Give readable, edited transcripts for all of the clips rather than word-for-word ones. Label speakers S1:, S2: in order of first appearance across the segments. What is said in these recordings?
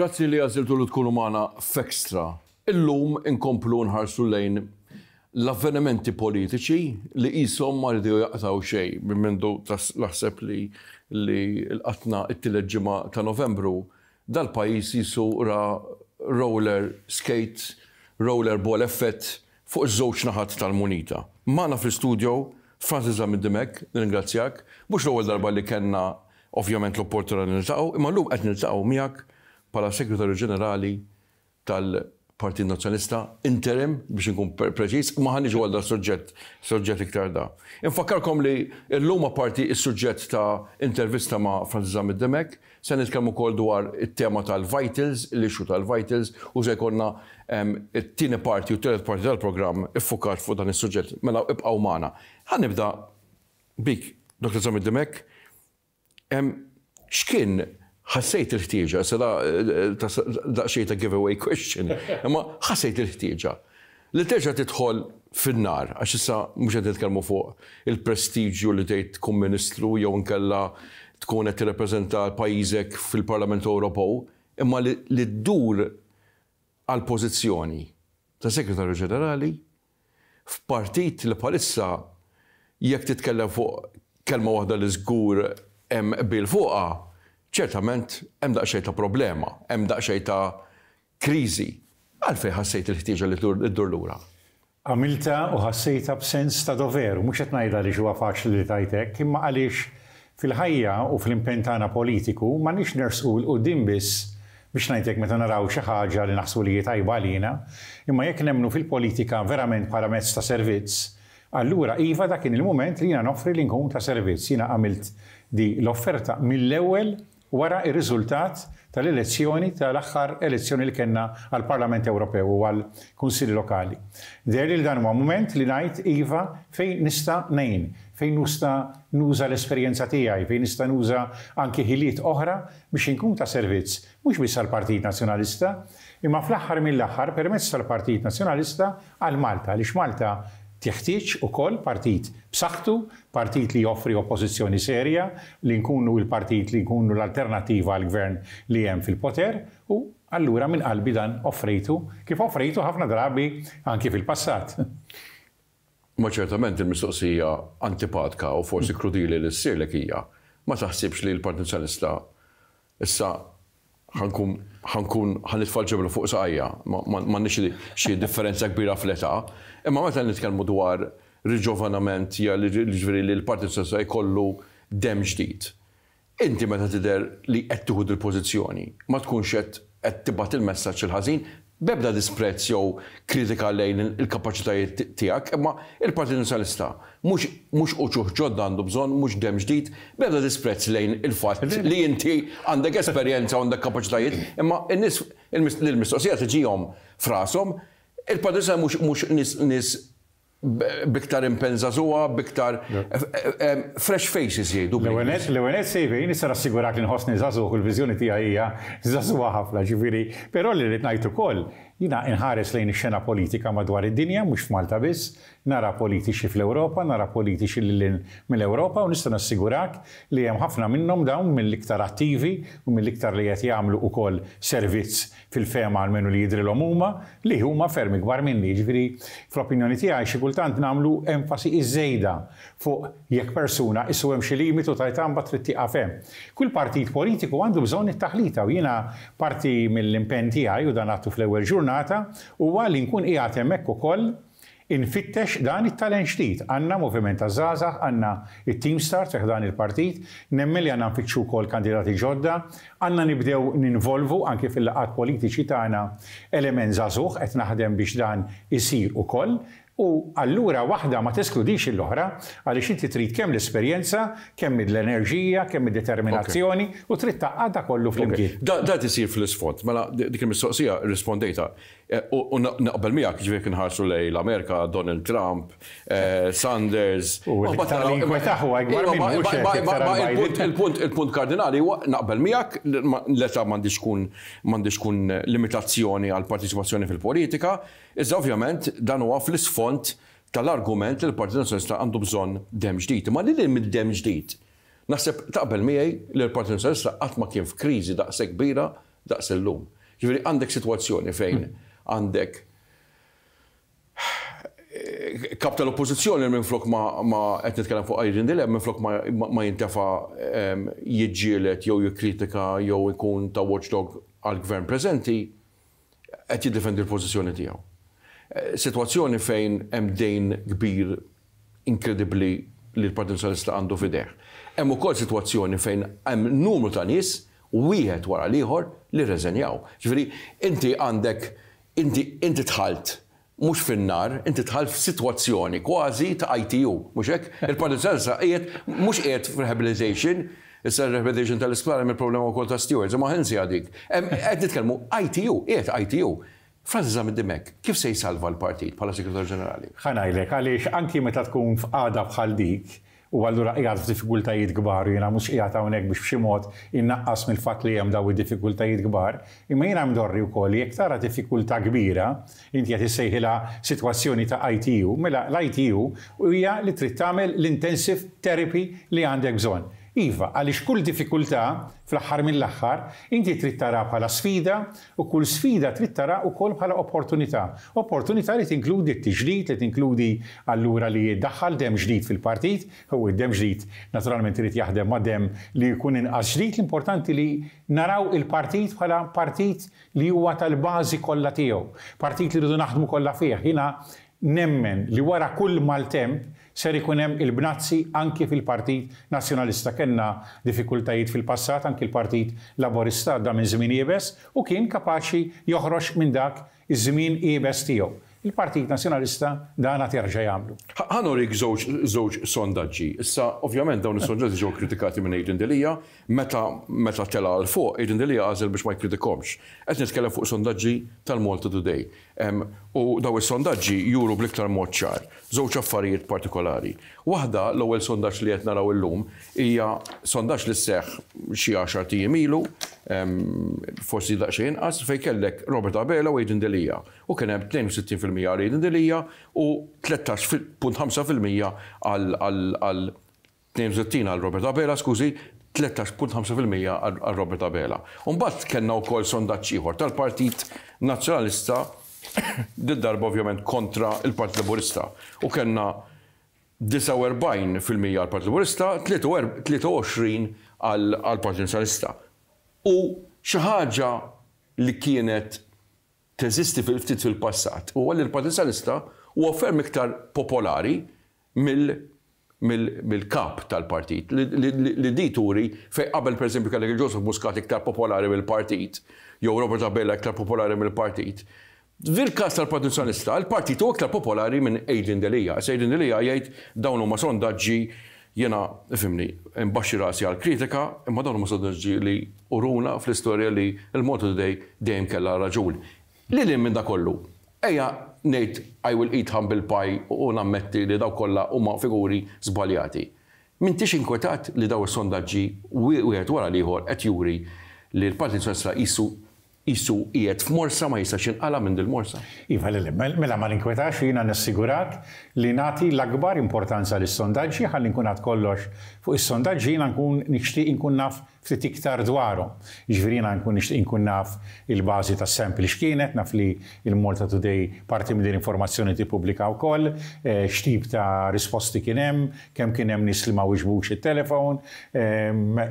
S1: Grazzi li għażiltu li tkunu magħna f'Extra. Illum inkomplu nħarsu lejn l-avvenimenti politiċi li qishom ma riedu jaqtgħu xejn minn mindu naħseb li li lqatna t-tielet ġimgħa ta' Novembru dal-pajjiż qisu ra roller skate, roller ball effett fuq iż-żewġ naħat tal-munita. Magħna fl-istudio Francis Zammit Dimech, nirringrazzjak. Mhux l-ewwel darba li kellna ovvjament l-opportunità li niltaqgħu, imma llum qed niltaqgħu miegħek bħala Segretarju Ġenerali tal-Partit Nazzjonalista, interim biex inkun preċiż, imma ħa niġu għal dal-suġġett, suġġett iktar da. Infakkarkom li llum apparti s-suġġett ta' intervista ma' Francis Zammit Dimech, Se nitkellmu wkoll dwar it-tema tal-Vitals, l-issue tal-Vitals u se jkollna t-tieni parti u t-tielet parti tal-programm iffukat fuq dan is-suġġett. Mela ibqgħu magħna. Ħa nibda bik, Dottor Zammit Dimech. X'kien ħassejt il-ħtieġa, issa da daqsxejn ta' giveaway question, imma ħassejt il-ħtieġa li terġa' tidħol fin-nar, għax issa mhux qed nitkellmu fuq il-prestiġju li tgħid tkun Ministru jew inkella tkun qed tirrappreżenta pajjiżek fil-Parlament Ewropew, imma li ddur għal pożizzjoni ta' Segretarju Ġenerali f'partit li bħalissa jekk titkellem fuq kelma waħda li żgur hemm qbil fuqha, ċertament hemm daqsxejn ta' problema, hemm daqsxejn ta' Kriżi. Għalfejn ħassejt il-ħtieġa li ddur lura?
S2: Għamiltha u ħassejtha b'sens ta' dover, u mhux qed ngħidha għaliex huwa faċli li tgħid hekk, imma għaliex fil-ħajja u fl-impenn tagħna politiku m'għandniex nersqu 'l quddiem biss biex ngħid hekk meta naraw xi ħaġa li naħsbu li hi tajba għalina, imma jekk nemmnu fil-politika verament bħala mezz ta' servizz, allura iva dak kien il-mument li jiena noffri li nkun ta' servizz. Jiena għamilt di l-offerta mill-ewwel wara r-riżultat tal-elezzjoni tal-aħħar elezzjoni li kellna għall-Parlament Ewropew u għall-Kunsilli Lokali. Deherli li dan huwa mument li ngħid iva fejn nista' ngħin, fejn nusta nuża l-esperjenza tiegħi, fejn nista' nuża anki ħiliet oħra biex inkun ta' servizz mhux biss għall-Partit Nazzjonalista, imma fl-aħħar mill-aħħar permezz tal-Partit Nazzjonalista għal Malta, għaliex Malta teħtieġ ukoll partit b'saħħtu, partit li joffri oppożizzjoni serja, li nkunu l-partit li nkunu l-alternattiva għall-Gvern li hemm fil-poter u allura minn qalbi dan offrejtu, kif offrejtu ħafna drabi anki fil-passat.
S1: Imma ċertament il-mistoqsija antipatka u forsi krudili li ssirlek hija, ma taħsibx li l-Partit Nazzjonalista issa ħa nkun ħa nkun ħa nitfa' l-ġebla fuq saqajja, m'għandniex xi differenza kbira fl-età, imma meta nitkellmu dwar riġovanament jiġifieri li l-Partit Nazzjonalista jkollu demm ġdid. Inti meta tidher li qed tieħu dil-pożizzjoni, ma tkunx qed qed tibgħat il-messaġġ il-ħażin, b'ebda disprezz jew kritika lejn il-kapaċitajiet tiegħek, imma il-Partit Nazzjonalista mhux mhux uċuħ ġodda għandu bżonn, mhux demm ġdid, b'ebda disprezz lejn il-fatt li inti għandek esperjenza u għandek kapaċitajiet, imma n-nies l-mistoqsija tiġihom f'rashom, il-Partit Nazzjonalista mhux mhux nies nies B'iktar impenn żagħżugħa, b'iktar fresh faces jgħidu
S2: bl-Ingliż. L-ewwel nett, l-ewwel nett Sejfe, jien nista' nassigurak li nħossni żagħżugħ u l-viżjoni tiegħi hija żagħżugħa ħafna, ġifieri, però li rrid ngħid ukoll, jiena inħares lejn ix-xena politika madwar id-dinja, mhux f'Malta biss, nara politiċi fl-Ewropa, nara politiċi lil hinn mill-Ewropa u nista' nassigurak li hemm ħafna minnhom dawn mill-iktar attivi u mill-iktar li qed jagħmlu ukoll servizz fil-fehma almenu li jidhrilhom huma, li huma ferm ikbar minni. Jiġifieri, fl-opinjoni tiegħi xi kultant nagħmlu enfasi iż-żejda fuq jekk persuna qisu hemm xi limitu ta' età mbagħad trid tieqaf hemm. Kull partit politiku għandu bżonn it-taħlita u jiena parti mill-impenn tiegħi, u dan għadtu fl-ewwel ġurnata, huwa li nkun qiegħed hemmhekk ukoll Infittex dan it-talent ġdid. Għandna moviment taż-żgħażagħ, għandna t-Team Start fi ħdan il-partit, nemmen li għandna nfittxu wkoll kandidati ġodda, għandna nibdew ninvolvu anki fil-laqgħat politiċi tagħna element żagħżugħ, qed naħdem biex dan isir ukoll. U allura waħda ma teskludix l-oħra għaliex inti trid kemm l-esperjenza, kemm l-enerġija, kemm id-determinazzjoni u trid tgħaqqad dak kollu flimkien.
S1: Dan qed isir fl-isfond. Mela dik il-mistoqsija rrispondejtha. U naqbel miegħek, jiġifieri jekk inħarsu lejn l-Amerika, Donald Trump, Sanders.
S2: U l-iktar li jinkwetah huwa ikbar minnu, mhux hekk, iktar għal Biden.
S1: Il-punt kardinali huwa, naqbel miegħek, l-età m'għandhiex tkun m'għandhiex tkun limitazzjoni għall-parteċipazzjoni fil-politika, iżda ovvjament dan huwa fl-isfond tal-argument li l-Partit Nazzjonalista għandu bżonn demm ġdid. Imma lil hinn mid-demm ġdid, naħseb taqbel miegħi li l-Partit Nazzjonalista qatt ma kien f'kriżi daqshekk kbira daqs illum. Ġifieri għandek sitwazzjoni fejn għandek kap tal-oppożizzjoni minflok ma qed nitkellem fuq Adrian Delia minflok ma jintefa' jiġġieled jew jikkritika jew ikun ta' watchdog għall-gvern preżenti qed jiddefendi l-pożizzjoni tiegħu. Sitwazzjoni fejn hemm dejn kbir inkredibbli li l-Partit Nazzjonalista għandu f'idejh. Hemm ukoll sitwazzjoni fejn hemm numru ta' nies wieħed wara l-ieħor li rreżenjaw. Ġifieri inti għandek inti inti dħalt mhux fin-nar, inti dħalt f'sitwazzjoni kważi ta' ITU, mhux hekk? Il-Partit Nazzjonalista qiegħed mhux qiegħed f'rehabilitation, issa r-rehabilitation tal-isptar hemm il-problema wkoll ta' stewards, imma ħa nsiha dik. Qed nitkellmu ITU, qiegħed ITU. Francis Zammit Dimech, kif se jsalva l-partit bħala Segretarju Ġenerali?
S2: Ħa ngħidlek għaliex anki meta tkun f'qagħda bħal dik, u allura qiegħed f'diffikultajiet kbar, u jiena mhux qiegħed hawnhekk biex b'xi mod innaqqas mill-fatt li hemm daw id-diffikultajiet kbar, imma jiena mdorri wkoll li jekk tara diffikultà kbira, inti qed issejħilha sitwazzjoni ta' ITU, mela l-ITU hija li trid tagħmel l-intensive therapy li għandek bżonn. Iva, għaliex kull diffikultà, fl-aħħar mill-aħħar, inti trid tara bħala sfida u kull sfida trid tara wkoll bħala opportunità. Opportunità li tinkludi t-tiġdid, li tinkludi allura li jiddaħħal demm ġdid fil-partit, u d-demm ġdid naturalment irid jaħdem ma' demm li jkun inqas ġdid, l-importanti li naraw il-partit bħala partit li huwa tal-bażi kollha tiegħu, partit li rridu naħdmu kollha fih. Jiena nemmen li wara kull maltemp ser ikun hemm il-bnazzi anki fil-Partit Nazzjonalista. Kellna diffikultajiet fil-passat, anki l-Partit Laburista għadda minn żmien iebes u kien kapaċi joħroġ minn dak iż-żmien iebes tiegħu. Il-Partit Nazzjonalista dan għad jerġa' jagħmlu.
S1: Ħa nurik żewġ sondaġġi. Issa, ovvjament dawn is-sondaġġi ġew kritikati minn Adrian Delia meta meta tela' 'l fuq, Adrian Delia għażel biex ma jkkritikhomx. Qed nitkellem fuq sondaġġi tal-Malta Today. U dawn is-sondaġġi juru bl-iktar mod ċar żewġ affarijiet partikolari. Waħda, l-ewwel sondaġġ li qed naraw illum hija sondaġġ li seħħ xi għaxart ijiem ilu, forsi daqsxejn inqas, fejn kellek Robert Abela u Adrian Delia. U kien hemm 62% għal Adrian Delia u 13.5% għal 62 għal Robert Abela, skużi, 13.5% għal Robert Abela. U mbagħad kellna wkoll sondaġġ ieħor tal-Partit Nazzjonalista, did-darba ovvjament kontra il-Partit Laburista. U kellna 49% għal Partit Laburista, 23 għal Partit Nazzjonalista. U xi ħaġa li kienet teżisti fil-ftit fil-passat huwa li l-Partit Nazzjonalista huwa ferm iktar popolari mill-kap tal-partit. Li di turi fej qabel, per esempio, kellek il-Joseph Muscat iktar popolari mill-partit, jew Robert Abela iktar popolari mill-partit. Fil-każ tal-Partit Nazzjonalista, il-partit huwa iktar popolari minn Adrian Delia. Issa Adrian Delia jgħid dawn huma sondaġġi, jiena ifhimni, imbaxxi rasi għal kritika, imma dawn huma sondaġġi li uruna fl-istorja li l-Malta Today dejjem kellha raġun. Li li minn da kollu, ejja ngħid I will eat humble pie u nammetti li daw kollha huma figuri żbaljati. M'intix inkwetat li daw is-sondaġġi wieħed wara l-ieħor qed juri li l-Partit Nazzjonalista qisu qiegħed f'morsa ma jistax jinqala' minn dil-morsa?
S2: Iva, le, mela ma ninkwetax, jiena nassigurak li nagħti l-akbar importanza lis-sondaġġi. Ħalli nkun għad kollox fuq is-sondaġġi, jiena nkun nixtieq inkun naf ftit iktar dwarhom. Jiġifieri jiena nkun nixtieq inkun naf il-bażi tas-sample x'kienet, naf li il-Malta Today parti minn din l-informazzjoni tippubblika wkoll, x'tip ta' risposti kien hemm, kemm kien hemm nies li ma wiġbux it-telefon,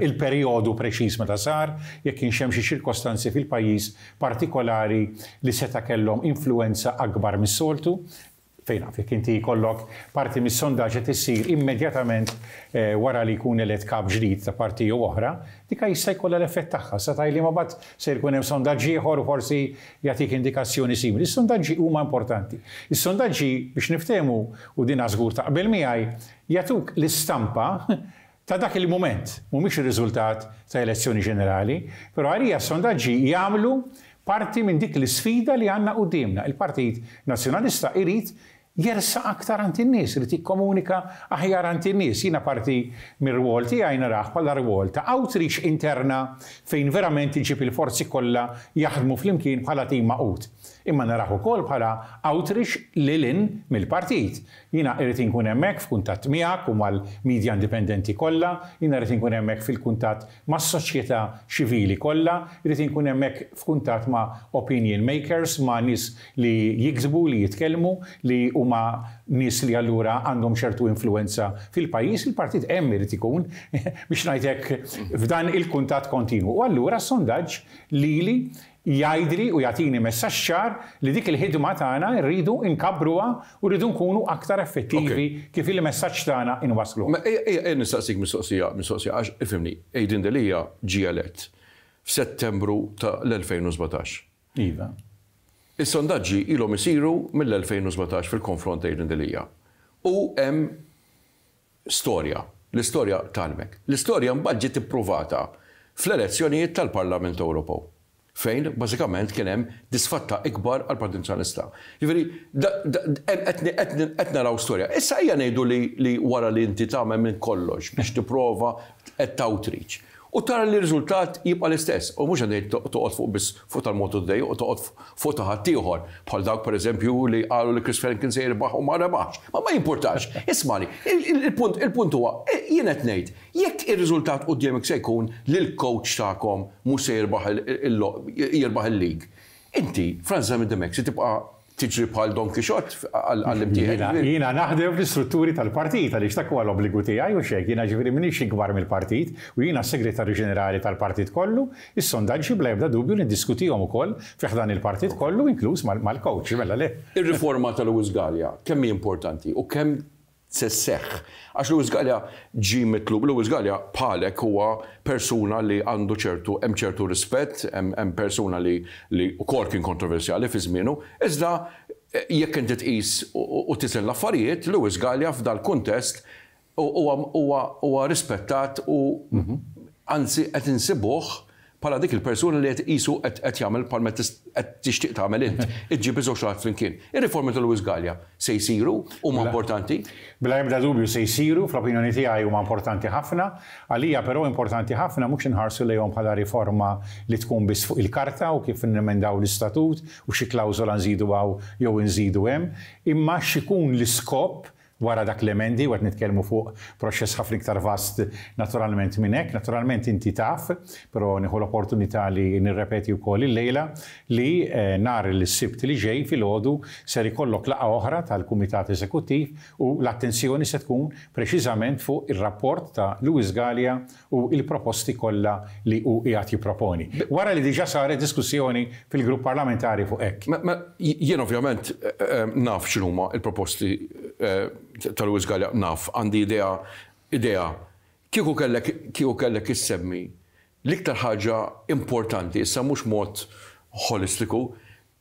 S2: il-perjodu preċiż meta sar, jekk kienx hemm xi ċirkostanzi fil-pajjiż partikolari li seta' kellhom influwenza akbar mis-soltu. Fejn naf, jekk inti jkollok parti mis-sondaġġ qed issir immedjatament wara li jkun elett kap ġdid ta' parti jew oħra, dika jista' jkollha l-effett tagħha. Sa tgħidli ma mbagħad se jkun hemm sondaġġ ieħor u forsi jagħtik indikazzjoni simili. Is-sondaġġi huma importanti. Is-sondaġġi, biex niftehmu, u dina żgur taqbel miegħi, jagħtuk l-istampa ta' dak il-mument, mhumiex ir-riżultat ta' elezzjoni ġenerali, però għalija s-sondaġġi jagħmlu parti minn dik l-isfida li għandna quddiemna. Il-Partit Nazzjonalista irid jersaq aktar għand in-nies, irid jikkomunika aħjar għand in-nies. Jiena parti mir-rwol tiegħi narah bħala rwol ta' outreach interna fejn verament iġib il-forzi kollha jaħdmu flimkien bħala tim magħqud. Imma narah ukoll bħala outreach lil hinn mill-partit. Jiena irrid inkun hemmhekk f'kuntatt miegħek u mal-media indipendenti kollha, jiena rrid inkun hemmhekk fil-kuntatt mas-soċjetà ċivili kollha, irrid inkun hemmhekk f'kuntatt ma' opinion makers, ma' nies li jiktbu, li jitkellmu, li huma nies li allura għandhom ċertu influwenza fil-pajjiż, il-partit hemm irid ikun, biex ngħid hekk, f'dan il-kuntatt kontinwu. U allura s-sondaġġ lili jgħidli u jagħtini messaġġ ċar li dik il-ħidma tagħna rridu nkabbruha u rridu nkunu aktar effettivi kif il-messaġġ tagħna inwassluh.
S1: Ejja nistaqsik mistoqsija, mistoqsija għax ifhimni, Adrian Delia ġie elett f'Settembru ta' l-2017.
S2: Iva.
S1: Is-sondaġġi ilhom isiru mill-2017 fil-konfront ta' Adrian Delia. U hemm storja. L-istorja tgħallmek. L-istorja mbagħad ġiet ippruvata fl-elezzjonijiet tal-Parlament Ewropew, fejn bażikament kien hemm disfatta ikbar għall-Partit Nazzjonalista. Jiġifieri qed naraw storja. Issa ejja ngħidu li wara li inti tagħmel minn kollox biex tipprova qed outreach U tara li r-riżultat jibqa' l-istess. U mhux qed ngħid toqgħod fuq biss fuq tal-Malta Today u toqgħod fuq ta' ħaddieħor, bħal dawk pereżempju li qalu li Chris Fearne kien se jirbaħ u ma rebaħx. Ma ma jimpurtax. Ismagħni, il-punt il-punt huwa, jien qed ngħid, jekk ir-riżultat quddiemek se jkun li l-coach tagħkom mhux se jirbaħ jirbaħ il-league, Inti, Frans Zammit Dimech, se tibqa' tiġri bħal Don Quixote għall-imtieħen?
S2: Jiena naħdem fl-istrutturi tal-partit għaliex dak huwa l-obbligu tiegħi hux hekk? Jiena ġifieri m'iniex ikbar mill-partit u jiena s-Segretarju Ġenerali tal-partit kollu. Is-sondaġġi bla ebda dubju niddiskutihom ukoll fi ħdan il-partit kollu inkluż mal-coach, mela le.
S1: Ir-riforma ta' Louis Galea kemm hi importanti u kemm se sseħħ. Għax Louis Galea ġie mitlub, Louis Galea bħalek huwa persuna li għandu ċertu, hemm ċertu rispett, hemm persuna li li wkoll kien kontroversjali fi żmienu, iżda jekk inti tqis u tiżen l-affarijiet, Louis Galea f'dal-kuntest huwa huwa huwa rispettat u anzi qed insibuh bħala dik il-persuna li qed qisu qed jagħmel bħalma qed tixtieq tagħmel int, iġġib iż-żewġ naħat flimkien. Ir-riformi ta' Louis Galea se jsiru? Huma importanti?
S2: Bla ebda dubju se jsiru, fl-opinjoni tiegħi huma importanti ħafna. Għalija però importanti ħafna mhux inħarsu lejhom bħala riforma li tkun biss fuq il-karta u kif nemendaw l-istatut u xi klawżola nżidu hawn jew inżidu hemm, imma x'ikun l-iskop Wara dak l-emendi, u qed nitkellmu fuq proċess ħafna iktar vast naturalment minn hekk, naturalment inti taf, però nieħu l-opportunità li nirrepeti wkoll illejla, li nhar il-Sibt li ġej filgħodu ser ikollok laqgħa oħra tal-Kumitat Eżekuttiv u l-attenzjoni se tkun preċiżament fuq ir-rapport ta' Louis Galea u l-proposti kollha li hu qiegħed jipproponi. Wara li diġà saret diskussjoni fil-grupp parlamentari fuq hekk.
S1: Jien ovvjament naf x'inhuma l-proposti ta' Louis Galea, naf, għandi idea, idea. Kieku kellek, kieku kellek issemmi l-iktar ħaġa importanti, issa mhux mod ħolistiku,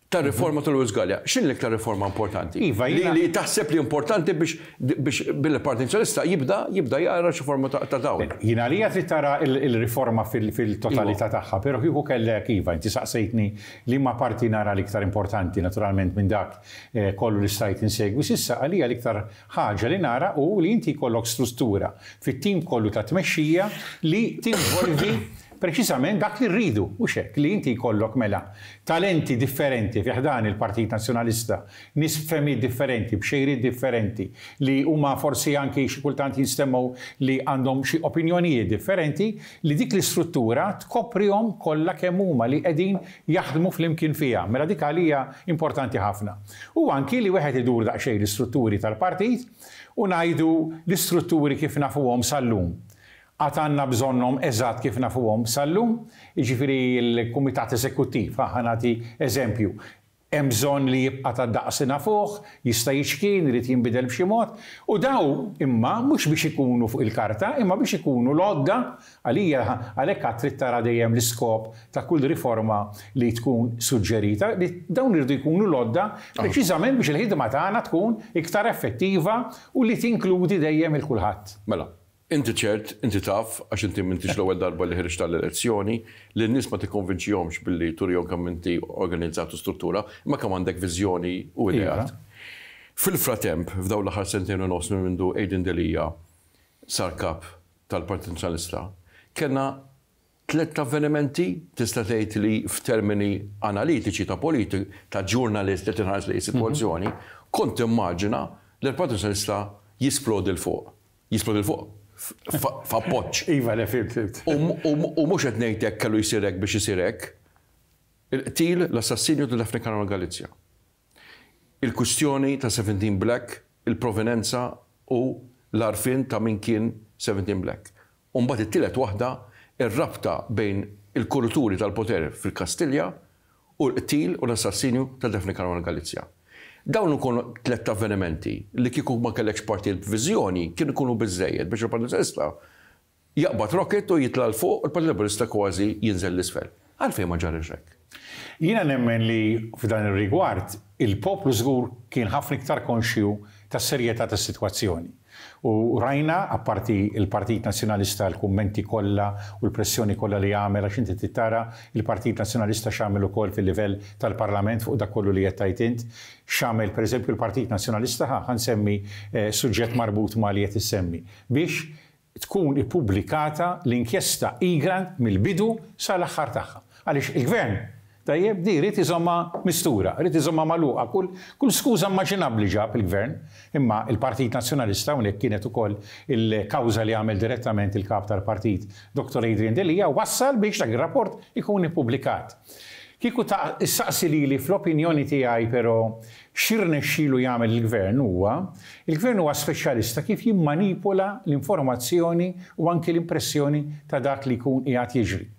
S1: tar-riforma ta' Louis Galea, x'inhi l-iktar riforma importanti?
S2: Iva, jiena.
S1: Li taħseb li importanti biex biex bil-Partit Nazzjonalista jibda jibda jara xi forma ta' dawl.
S2: Jien għalija trid tara l-riforma fil-totalità tagħha, però kieku kellek, iva, inti saqsejtni liema parti nara l-iktar importanti, naturalment minn dak kollu li stajt insegwi s'issa, għalija l-iktar ħaġa li nara hu li inti jkollok struttura fit-tim kollu ta' tmexxija li tinvolvi Preċiżament dak li rridu, hux hekk, li inti jkollok mela talenti differenti fi ħdan il-Partit Nazzjonalista, nies b'fehmiet differenti, b'xejriet differenti, li huma forsi anki xi kultant jinstemgħu li għandhom xi opinjonijiet differenti, li dik l-istruttura tkoprihom kollha kemm huma li qegħdin jaħdmu flimkien fiha. Mela dik għalija importanti ħafna. U anki li wieħed idur daqsxejn l-istrutturi tal-partit u ngħidu l-istrutturi kif nafuhom sal-lum. Għad għandna bżonnhom eżatt kif nafuhom sal-lum, jiġifieri l-Kumitat Eżekuttiv, ha, ħa nagħti eżempju, hemm bżonn li jibqa' tad-daqs li nafuh, jista' jiċkien, irid jinbidel b'xi mod, u daw imma mhux biex ikunu fuq il-karta, imma biex ikunu l-għodda, għalija għalhekk għad trid tara dejjem l-iskop ta' kull riforma li tkun suġġerita, li dawn iridu jkunu l-għodda preċiżament biex il-ħidma tagħna tkun iktar effettiva u li tinkludi dejjem 'il kulħadd.
S1: Mela, Inti ċert, inti taf, għax inti m'intix l-ewwel darba li ħriġt għall-elezzjoni, li n-nies ma tikkonvinċihomx billi turihom kemm inti organizzat u struttura, imma kemm għandek viżjoni u ideat. Fil-fratemp, f'dawn l-aħħar sentejn u nofs minn mindu Adrian Delia sar kap tal-Partit Nazzjonalista, kellna tlett avvenimenti, tista' tgħid li f'termini analitiċi ta' politi ta' ġurnalist li tinħares lejn is-sitwazzjoni, kont timmaġina li l-Partit Nazzjonalista jisplodi 'l fuq. Jisplodi 'l fuq f'appoġġ.
S2: Iva, le, fhimt, fhimt.
S1: U mhux qed ngħid hekk kellu jsir hekk biex isir hekk. Il-qtil, l-assassinju ta' Daphne Caruana Galizia. Il-kwistjoni ta' 17 Black, il-provenenza u l-għarfien ta' min kien 17 Black. U mbagħad it-tielet waħda, ir-rabta bejn il-kurituri tal-poter fil-Kastilja u l-qtil u l-assassinju ta' Daphne Caruana Galizia. Dawn ikunu tlett avvenimenti li kieku ma kellekx partit b'viżjoni kienu jkunu biżżejjed biex il-Partit Nazzjonalista Jaqbad rocket u jitla' 'l fuq u l-Partit Laburista kważi jinżel 'l isfel. Għalfejn ma ġariex hekk?
S2: Jiena nemmen li f'dan ir-rigward il-poplu żgur kien ħafna iktar konxju tas-serjetà tas-sitwazzjoni. U rajna, apparti l-Partit Nazzjonalista l-kummenti kollha u l-pressjoni kollha li għamel għax inti trid tara l-Partit Nazzjonalista x'għamel ukoll fil-livell tal-Parlament fuq dak kollu li qed tgħid int, x'għamel pereżempju l-Partit Nazzjonalista, ħa ħa nsemmi suġġett marbut ma' li qed issemmi, biex tkun ippubblikata l-inkjesta Egrant mill-bidu sal-aħħar tagħha. Għaliex il-Gvern, tajjeb, di ried iżommha mistura, ried iżommha magħluqa, kull kull skuża immaġinabbli ġab il-Gvern. Imma l-Partit Nazzjonalista, hawnhekk kienet ukoll il-kawża li għamel direttament il-Kap tal-Partit, Dottor Adrian Delia, wassal biex dak ir-rapport ikun ippubblikat. Kieku ta' issaqsi lili fl-opinjoni tiegħi però x'irnexxielu jagħmel il-Gvern huwa, il-Gvern huwa speċjalista kif jimmanipula l-informazzjoni u anki l-impressjoni ta' dak li jkun qiegħed jiġri.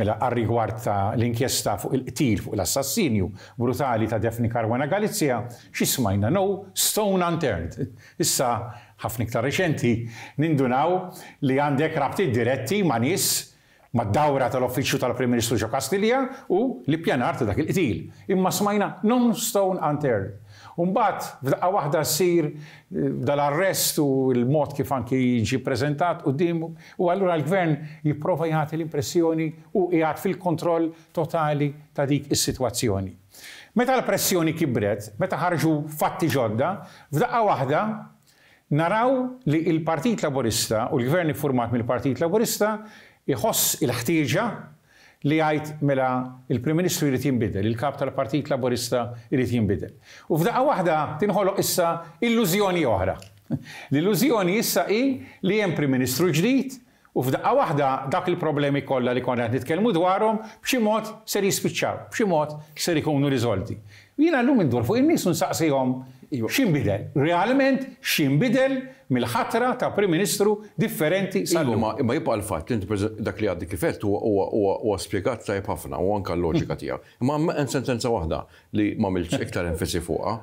S2: Mela għar-rigward ta' l-inkjesta fuq il-qtil, fuq l-assassinju brutali ta' Daphne Caruana Galizia, xi smajna? No stone unturned. Issa, ħafna iktar reċenti, nindunaw li għandek rabtiet diretti ma' nies mad-dawra tal-Uffiċċju tal-Prim Ministru ġo Kastilja u l-ippjanar ta' dak il-qtil. Imma smajna no stone unturned. U mbagħad f'daqqa waħda ssir dal-arrest u l-mod kif anki jiġi ppreżentat quddiem u allura l-Gvern jipprova jagħti l-impressjoni hu qiegħed fil-kontroll totali ta' dik is-sitwazzjoni. Meta l-pressjoni kibret, meta ħarġu fatti ġodda, f'daqqa waħda Naraw li l-Partit Laburista u l-Gvern iffurmat mill-Partit Laburista jħoss il-ħtieġa li jgħid mela l-Prim Ministru jrid jinbidel, il-Kap tal-Partit Laburista jrid jinbidel. U f'daqqa waħda tinħoloq issa illużjoni oħra. L-illużjoni issa hi li hemm Prim Ministru ġdid U f'daqqa waħda dak il-problemi kollha li konna qed nitkellmu dwarhom b'xi mod ser jispiċċaw, b'xi mod ser ikunu riżolti. U jiena llum indur fuq in-nies u nsaqsihom x'inbidel, realment x'inbidel mill-ħatra ta' Prim Ministru differenti sal-lum.
S1: Iva, imma jibqa' l-fatt li inti dak li għaddi kif għedt huwa spjegat tajjeb ħafna u anke l-loġika tiegħek. Imma hemm sentenza waħda li m'għamiltx iktar enfasi fuqha,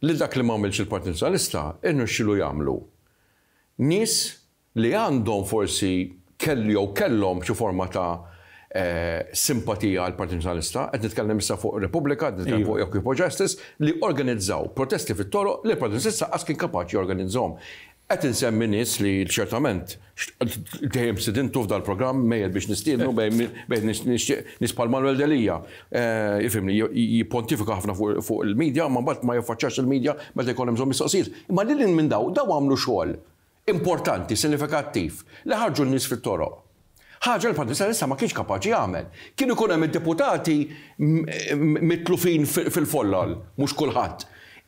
S1: li dak li m'għamilx il-Partit Nazzjonalista irnexxielu jagħmlu nies li għandhom forsi kellu jew kellhom xi forma ta' simpatija għall-Partit Nazzjonalista, qed nitkellem issa fuq Repubblika, qed nitkellem fuq Occupy Justice, li organizzaw protesti fit-toroq li l-Partit Nazzjonalista qas kien kapaċi jorganizzahom. Qed insemmi nies li ċertament dejjem stidintu f'dal-programm, mejjet biex nistiednu, mejjet nixtieq nies bħal Manuel Delia, ifhimni, jippontifika ħafna fuq il-media, imma mbagħad ma jaffaċċjax il-media meta jkollhom bżonn mistoqsijiet. Imma lil hinn minn dawn, dawn għamlu xogħol importanti, sinifikattiv, li ħarġu n-nies fit-toroq. Ħaġa li l-Partit Nazzjonalista ma kienx kapaċi jagħmel. Kien ikun hemm id-deputati mitlufin fil-follol, mhux kulħadd.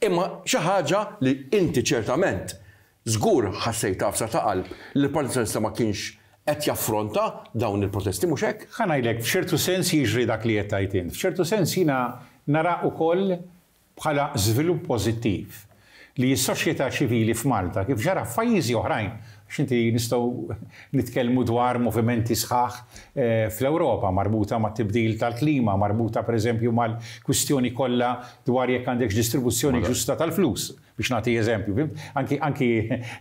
S1: Imma xi ħaġa li inti ċertament żgur ħassejt għafsa ta' qalb li l-Partit Nazzjonalista ma kienx qed jaffronta dawn il-protesti, mhux hekk?
S2: Ħa ngħidlek, f'ċertu sens jiġri dak li qed tgħid int. F'ċertu sens jiena nara ukoll bħala żvilupp pożittiv li s-soċjetà ċivili f'Malta, kif ġara f'pajjiżi oħrajn, għax inti nistgħu nitkellmu dwar movimenti sħaħ fl-Ewropa marbuta mat-tibdil tal-klima, marbuta pereżempju mal-kwistjoni kollha dwar jekk għandekx distribuzzjoni ġusta tal-flus, biex nagħti eżempju, fhimt? Anki anki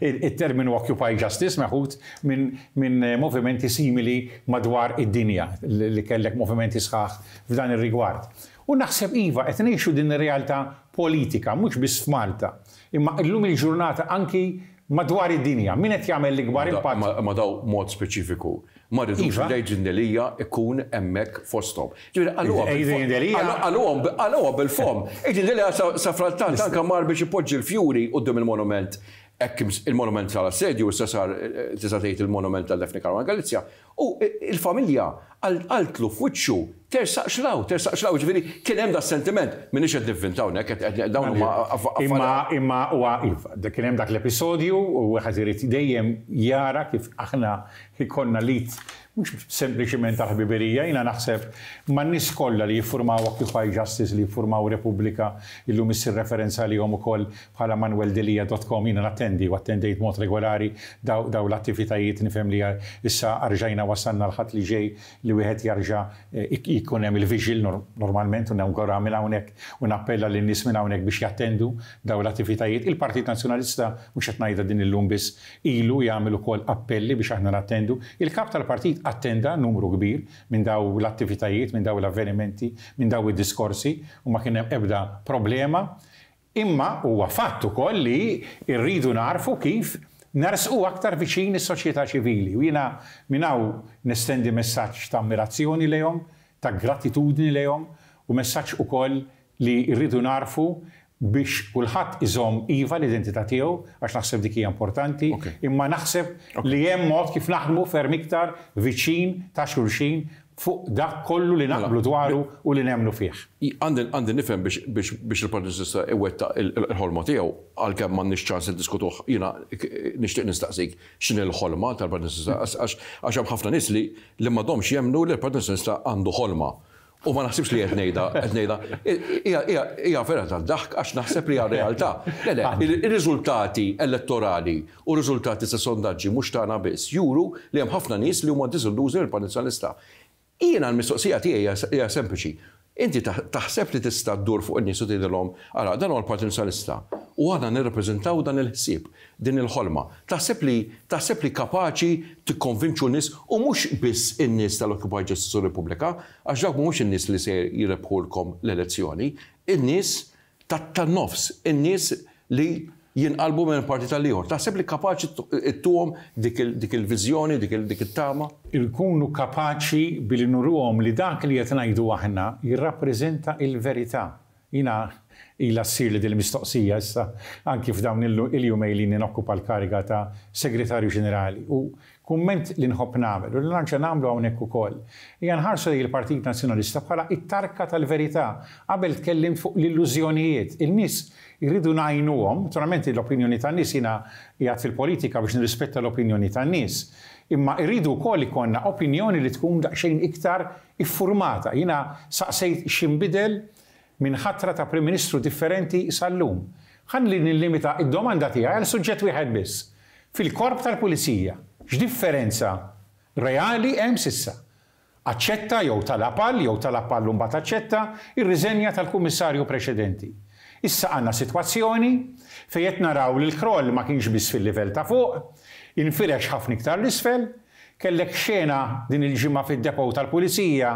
S2: t-terminu Occupy Justice meħud minn minn movimenti simili madwar id-dinja li kellek movimenti sħaħ f'dan ir-rigward. U naħseb iva, qed ngħixu din ir-realtà politika, mhux biss f'Malta, imma illum il-ġurnata anki madwar id-dinja. Min qed jagħmel l-ikbar impatt?
S1: Ma daw mod speċifiku. Ma rridux li Adrian Delia ikun hemmhekk fosthom. Ġifieri qalluha
S2: Adrian Delia.
S1: Qalluha bil-fomm. Adrian Delia safrattant anke mar biex ipoġġi l-fjuri quddiem il-monument hekk il-monument tal-assedju issa sar tista' tgħid il-monument ta' Daphne Caruana Galizia. U il-familja qaltlu f'wiċċu tersaqx 'l hawn, tersaqx 'l hawn, jiġifieri kien hemm das-sentiment. M'iniex qed nivvinta hawnhekk, qed dawn huma
S2: affarijiet. Imma imma huwa iva, kien hemm dak l-episodju u wieħed irid dejjem jara kif aħna jkollna l-id mhux sempliċiment tal-ħbiberija, jiena naħseb man-nies kollha li jiffurmaw Occupy Justice, li jiffurmaw Repubblika, illum issir referenza għalihom ukoll bħala manueldelia dot com, jiena nattendi u attendejt b'mod regolari dawn l-attivitajiet, nifhem li issa rġajna wasalna l-Ħadd li ġej li wieħed jarġa' jkun hemm il-vigil normalment u nawgura minn hawnhekk u nappella lin-nies minn hawnhekk biex jattendu dawn l-attivitajiet. Il-Partit Nazzjonalista, mhux qed ngħidha din illum biss, ilu jagħmel ukoll appelli biex aħna nattendu. Il-Kap tal-Partit attenda numru kbir minn dawn l-attivitajiet, minn dawn l-avvenimenti, minn dawn id-diskorsi u ma kien hemm ebda problema. Imma huwa fatt ukoll li rridu nagħrfu kif nersqu aktar viċin is-soċjetà ċivili u jiena minn hawn nestendi messaġġ ta' ammirazzjoni lejhom, ta' gratitudni lejhom u messaġġ ukoll li rridu nagħrfu biex kulħadd iżomm iva l-identità tiegħu għax naħseb dik hija importanti, imma naħseb li hemm mod kif naħdmu ferm iktar viċin ta' xulxin fuq dak kollu li naqblu dwaru u li nemmnu fih.
S1: Għandi nifhem biex il-Partit Nazzjonalista iwettaq il-ħolma tiegħu, għalkemm m'għandniex ċans niddiskutuh, jiena nixtieq nistaqsik x'inhi l-ħolma tal-Partit Nazzjonalista għax hemm ħafna nies li m'għadhomx jemmnu li l-Partit Nazzjonalista għandu ħolma. U ma naħsibx li qed ngħidha, qed ngħidha, hija vera tad-daħk għax naħseb li hija realtà. Le, le, ir-riżultati elettorali u r-riżultati ta' sondaġġi mhux tagħna biss juru li hemm ħafna nies li huma diżillużi mill-Partit Nazzjonalista. Jiena l-mistoqsija tiegħi hija sempliċi. Inti taħseb li tista' ddur fuq in-nies u tgħidilhom, ara, dan huwa l-Partit Nazzjonalista u aħna nirrappreżentaw dan il-ħsieb, din il-ħolma. Taħseb li taħseb li kapaċi tikkonvinċu n-nies u mhux biss in-nies tal-Occupy Justice u Repubblika, għax dawk mhumiex in-nies li se jirebħulkom l-elezzjoni, in-nies tan-nofs, in-nies li jinqalbu minn partit għal ieħor. Taħseb li kapaċi ttuhom dik il-viżjoni, dik it-tama?
S2: Inkunu kapaċi billi nuruhom li dak li qed ngħidu aħna jirrappreżenta l-verità. Jiena ilha ssirli din il-mistoqsija issa anki f'dawn il-jumejn li ilni nokkupa l-kariga ta' Segretarju Ġenerali u Kumment li nħobb nagħmel, u li nerġa' nagħmlu hawnhekk ukoll, hija nħarsu lejn il-Partit Nazzjonalista bħala t-tarka tal-verità. Qabel tkellimt fuq l-illużjonijiet. Il-nies irridu ngħinuhom, naturalment l-opinjoni tan-nies jiena qiegħed fil-politika biex nirrispetta l-opinjoni tan-nies, imma rridu wkoll ikollna opinjoni li tkun daqsxejn iktar iffurmata. Jiena saqsejt x'inbidel minn ħatra ta' Prim Ministru differenti sal-lum. Ħalli nillimita d-domanda tiegħi għal suġġett wieħed biss. Fil-Korp tal-Pulizija, x'differenza reali hemm s'issa? Aċċetta jew talab għal, jew talab għal u mbagħad aċċetta, ir-riżenja tal-Kummissarju preċedenti. Issa għandna sitwazzjoni fejn qed naraw li l-kroll ma kienx biss fil-livell ta' fuq, infirex ħafna iktar 'l isfel. Kellek xena din il-ġimgħa fid-depot tal-Pulizija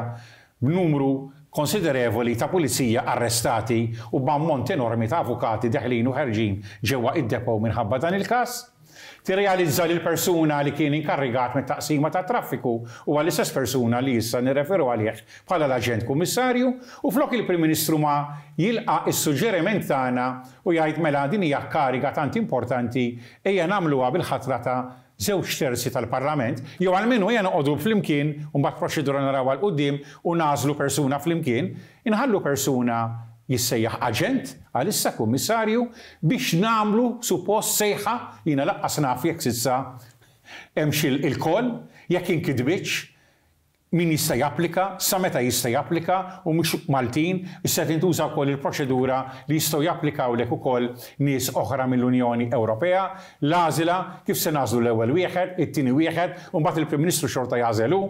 S2: b'numru konsiderevoli ta' pulizija arrestati u b'ammont enormi ta' avukati deħlin u ħerġin ġewwa id-depot minħabba dan il-każ. Tirrealizza li l-persuna li kien inkarrigat mit-taqsima tat-traffiku huwa l-istess persuna li issa nirreferu għalih bħala l-Aġent Kummissarju u flok il-Prim Ministru ma jilqa' s-suġġeriment tagħna u jgħid mela din hija kariga tant importanti ejja nagħmluha bil-ħatra ta' żewġ terzi tal-Parlament, jew almenu ejja noqogħdu flimkien u mbagħad proċedura narawha 'l quddiem u nagħżlu persuna flimkien, inħallu persuna jissejjaħ aġent, għalissa kummissarju, biex nagħmlu suppost sejħa, jiena lanqas naf jekk s'issa hemmx il-call, jekk inkitbitx, min jista' japplika, sa meta jista' japplika u mhux Maltin, issa tintuża wkoll il-proċedura li jistgħu japplikawlek ukoll nies oħra mill-Unjoni Ewropea, l-għażla, kif se nagħżlu l-ewwel wieħed, it-tieni wieħed, u mbagħad il-Prim Ministru xorta jagħżel hu.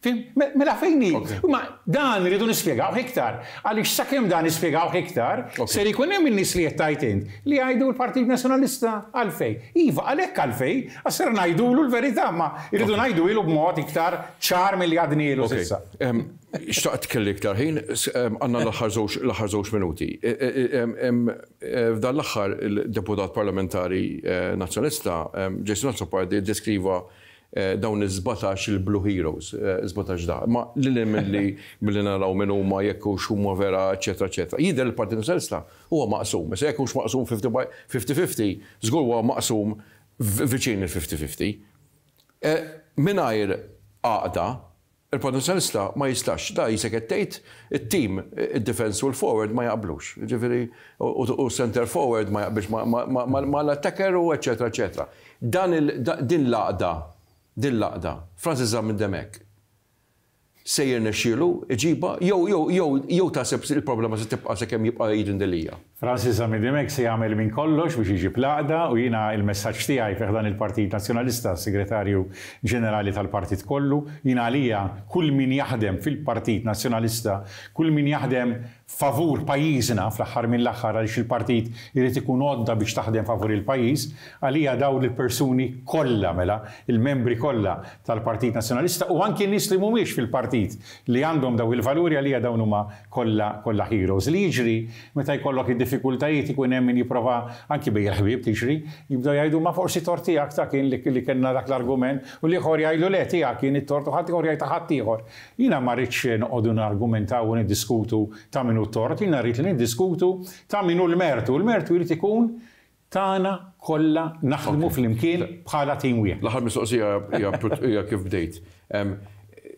S2: Fhimt? Mela fejn hi? Ma dan irridu nispjegawh iktar. Għaliex sakemm dan nispjegawh iktar, ser ikun hemm in-nies li qed tgħid int li jgħidu l-Partit Nazzjonalista għalfejn. Iva, għalhekk għalfejn, għax ser ngħidulu l-verità, imma rridu ngħiduhielu b'mod iktar ċar milli għadnielu s'issa.
S1: Xtaqt kelli iktar ħin, għandna l-aħħar żewġ l-aħħar żewġ minuti. F'dan l-aħħar il-deputat parlamentari Nazzjonalista Jason Azzopardi ddeskriva dawn is-sbatax il-Blue Heroes, sbatax da. Imma lil hinn milli milli naraw min huma, jekk hux huma vera, eċċetera, eċċetera. Jidher li l-Partit Nazzjonalista huwa maqsum. Issa jekk hux maqsum 50 by 50-50, żgur huwa maqsum viċin il-50-50. Mingħajr għaqda, Il-Partit Nazzjonalista ma jistax, da qisek qed tgħid, it-tim, id-defence u l-forward ma jaqblux. Jiġifieri, u center forward ma jaqbilx mal-attacker u eċċetera eċċetera. Dan il, din l-għaqda, din l-għaqda, Francis Zammit Dimech se jirnexxielu jġibha jew, jew, jew, jew taħseb il-problema se tibqa' sakemm jibqa' Adrian Delia?
S2: Francis Zammit Dimech se jagħmel minn kollox biex iġib l-għaqda u jiena il-messaġġ tiegħi fi ħdan il-Partit Nazzjonalista, Segretarju Ġenerali tal-Partit kollu, jiena għalija kull min jaħdem fil-Partit Nazzjonalista, kull min jaħdem favur pajjiżna fl-aħħar mill-aħħar għaliex il-partit irid ikun għodda biex taħdem favur il-pajjiż, għalija dawn il-persuni kollha mela, il-membri kollha tal-Partit Nazzjonalista u anki n-nies li mhumiex fil-partit li għandhom dawn il-valuri għalija dawn huma kollha kollha heroes. Li jiġri meta jkollok id-diffikultajiet ikun hemm min jipprova anki bejn il-ħbieb tiġri, jibdew jgħidu ma forsi tort tiegħek ta' kien li li kellna dak l-argument u l-ieħor jgħidlu le tiegħek kien it-tort u ħaddieħor jgħid ta' ħaddieħor. Jiena ma rridx noqogħdu nargumentaw u niddiskutu ta' min hu t-tort, jiena rrid li niddiskutu ta' min hu l-mertu. Il-mertu jrid ikun tagħna kollha naħdmu flimkien bħala tim wieħed.
S1: L-aħħar mistoqsija hija kif bdejt.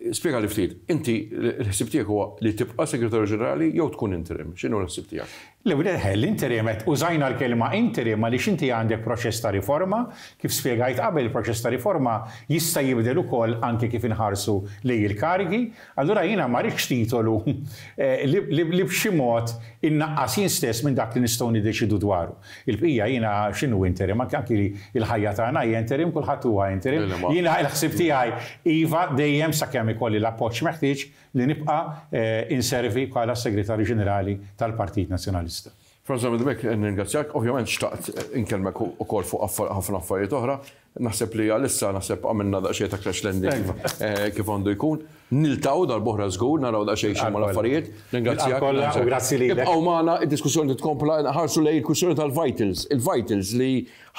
S1: Spjegali ftit, inti l-ħsieb tiegħek huwa li tibqa' Segretarju Ġenerali jew tkun interim? X'inhu l-ħsieb tiegħek?
S2: Le, l-interim qed użajna l-kelma interim għaliex inti għandek proċess ta' riforma, kif spjegajt qabel il-proċess ta' riforma jista' jibdel ukoll anke kif inħarsu lejn il-karigi, Allura jiena ma rridx titolu li b'xi mod innaqqas jien stess minn dak li nistgħu niddeċiedu dwaru. Il-bqija jiena x'inhu interim, anki anki l-ħajja tagħna hija interim, kulħadd huwa interim. Jiena l-ħsieb tiegħi iva dejjem sakemm ikolli l-appoġġ meħtieġ li nibqa' inservi bħala s-Segretarju Ġenerali tal-Partit Nazzjonalista.
S1: Franz Dimech, nirringrazzjak. Ovvjament xtaqt inkellmek ukoll fuq ħafna affarijiet oħra. Naħseb li għalissa naħseb għamilna daqsxejn ta' crash landing kif għandu jkun. Niltaqgħu darb'oħra żgur, naraw daqsxejn x'inhuma l-affarijiet. Ningrazzjak.
S2: Kollha u grazzi lilek.
S1: Ibqgħu magħna, id-diskussjoni titkompla, nħarsu lejn il-kwistjoni tal-vitals. Il-vitals li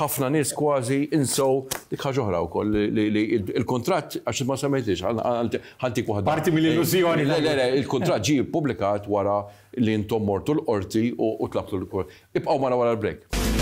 S1: ħafna nies kważi insew dik ħaġa oħra wkoll li l-kuntratt għax ma semmejtix, ħa ntik waħda.
S2: Parti mill-illużjoni.
S1: Le, le, le, il-kuntratt ġie ppubblikat wara li intom mortu l-qorti u tlabtu l Ibqgħu magħna wara l-break.